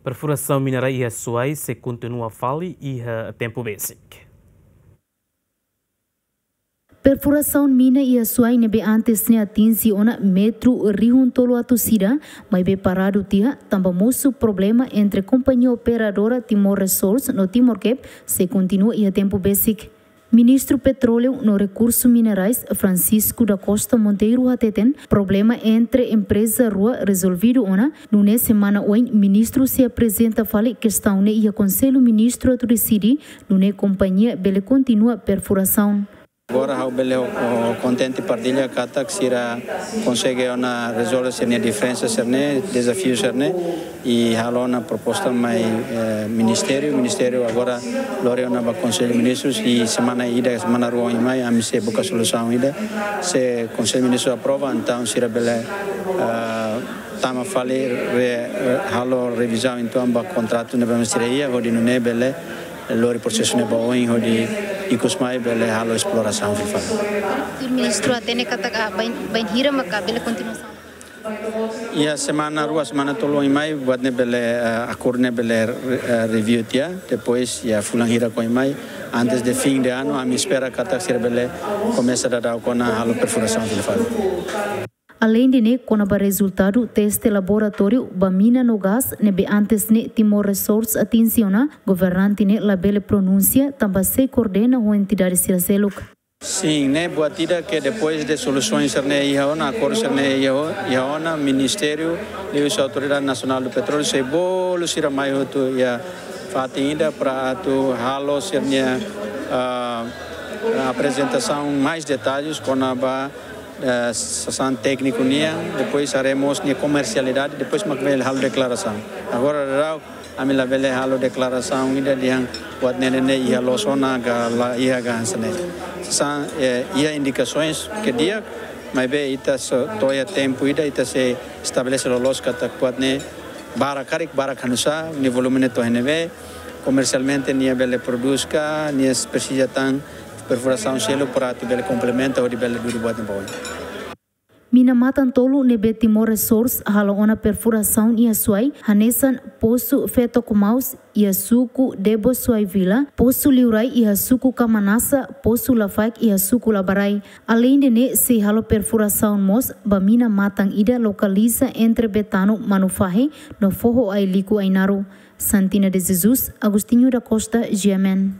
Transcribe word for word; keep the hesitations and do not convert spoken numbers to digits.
Perfurasaun mina rai iha Suai sei kontinua fali iha tempu besik. Perfurasaun mina iha Suai ne'ebé antes ne'e atinje ona metru rihun tolu atus ida, maibé paradu tiha, tanba mosu problema entre kompañia operadora Timor Resource no Timor Cap sei kontinua iha tempu besik. Ministru Petróleu no Rekursu Minerais, Francisco da Costa Monteiro hateten, problema entre empreza rua rezolvidu ona, nune'e semana oin ministru sei aprezenta fali kestaun ne'e iha Konsellu Ministru atu deside, nune'e kompañia bele kontinua perfurasaun. Agora ha'u bele, oh, kontente partilla katak sira konsege ona rezolve sira-nia diferensa sira-ne'e, dezafiu sira-ne'e, i halo ona proposta mai, eh, ministériu. Ministériu agora lori ona ba Konsellu Ministrus i semana ida, semana rua oin mai, ami sei buka solusaun ida. Se Konsellu Ministrus aprova, entaun sira bele, ah, tama fali re-, re-, halo revizaun entaun ba kontratu ne'ebé mak sira iha, hodi nune'e bele lori prosesu ne'e ba oin, hodi ikus mai bele halo esplorasaun fila fali. Ministru hatene katak, ah, bain, bainhira maka bele kontinuasaun? Iha semana rua, semana tolu oin mai, buat ne'e bele, eh, akordu ne'e bele, eh, review tiha, depois iha fulan hirak oin mai, antes de fim de ano, ami espera katak sira bele komesa daudaun ona halo perfurasaun fila fali. Aleinde ne'e, kona-ba rezultadu teste laboratóriu ba mina no gás ne'ebé antes ne'e Timor Resource atinje ona, governante ne'e labele pronunsia, tanba sei koordena ho entidade sira seluk. Sin, ne'e buat ida ke depois de solusaun sira-ne'e iha ona, akordu sira-ne'e iha o-, iha ona, ministériu, liuhusi Autoridade Nasionál do Petróleu, sei bolu sira mai hotu iha fatin ida para atu halo sira-nia, ah, aprezentasaun mais detalles kona-ba, eh, sasán tékniku nian, depois haremos nia komersialidade, depois mak bele halo deklarasaun. Agora, daudaun, ami labele halo deklarasaun ida dehan buat ne'e ne'e iha loos ona ka la iha ka hanesan ne'e. Sasán, eh, iha indikasoens ke di'ak, maibé ita sei to'o iha tempu ida, ita sei estabelese loloos katak buat ne'e barak karik, barak hanusá, nia volume ne'e to'o iha ne'ebé, komersialmente nia bele prodús ka, nia presiza tan perfurasaun seluk para atu bele komplementa hodi bele dudu buat ne'e ba oin. Mina matan tolu ne'ebé Timor Resource halo ona perfurasaun iha Suai, hanesan Posu Feto Kumaus iha suku Debo Suai Vila, Posu Liurai iha suku Kamanasa, Posu Lafaek iha suku Labarai. Aleinde ne'e sei halo perfurasaun mós ba mina matan ida lokaliza entre Betano Manufahi no Foho Ailiku Ainaro. Santina de Jesus, Agostinho da Costa, G M N.